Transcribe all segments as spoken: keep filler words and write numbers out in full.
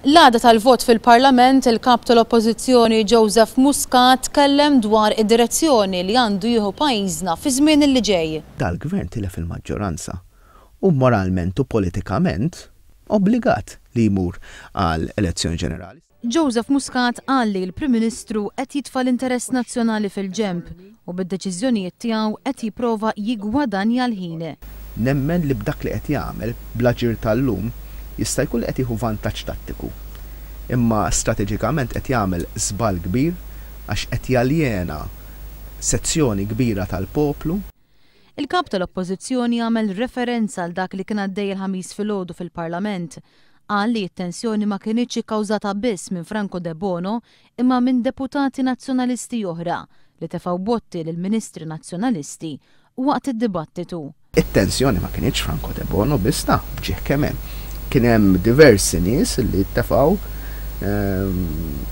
L-għada tal-vot fil-Parlament, il-kap tal-Oppożizzjoni Joseph Muscat tkellem dwar id-direzzjoni li għandu jieħu pajjiżna fi żmien li ġej. Dal-gvern tilef il-maġġoranza u moralment u politikament obbligat li jmur għal elezzjoni ġenerali. Joseph Muscat qal li l-Prim Ministru qed jitfa' l-interess nazzjonali fil-ġenb u bid-deċiżjonijiet tiegħu qed jipprova jiggwadanja l-ħin. Nemmen li b'dak li qed jagħmel bl-aġir tal-lum jista' jkun li qed jieħu vantaġġ tattiku. Imma strateġikament qed jagħmel żball kbir għax qed jaljena sezzjoni kbira tal-poplu. Il-kap tal-Oppożizzjoni għamel referenza għal dak li kien għaddej il-Ħamis filgħodu fil-Parlament. Qal li t-tensjoni ma kinitx ikkawżata biss minn Franco Debono imma minn deputati nazzjonalisti oħra li tefgħu botti lil ministri nazzjonalisti waqt id-dibattitu. It-tensjoni ma kinitx Franco Debono biss ta' bġieħ kemm hemm. Kien hemm diversi nies li tefgħu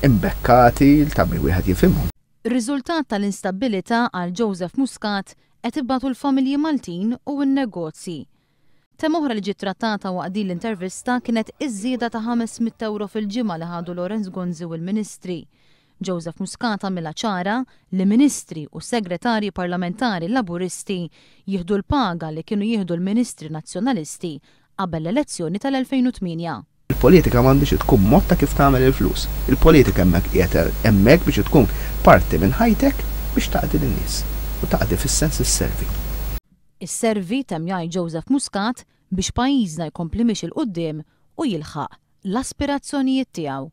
imbekkati ta' min wieħed jifhimhom. Ir-riżultat tal-instabbilità għal Joseph Muscat qed ibatu l-familji Maltin u n-negozji. Tema oħra li ġiet trattata waqt din l-intervista kienet iż-żieda ta' ħames mitt euro fil-ġimgħa li ħadu Lawrence Gonzi u l-Ministri. Joseph Muscat għamilha ċara li ministri u segretarji parlamentari laburisti jieħdu l-paga li kienu jieħdu l-ministri nazzjonalisti qabel l-elezzjoni tal-elfejn u tmienja. Il-politika m'għandix tkun mod ta' kif tagħmel il-flus. Il-politika hemmhekk qiegħed hemmhekk biex tkun parti minn ħajtek biex taqdi lin-nies u taqdi fis-sens isservi. Isservi temm jgħid Joseph Muscat biex pajjiżna jkompli mixi 'l quddiem u jilħaq l-aspirazzjonijiet tiegħu.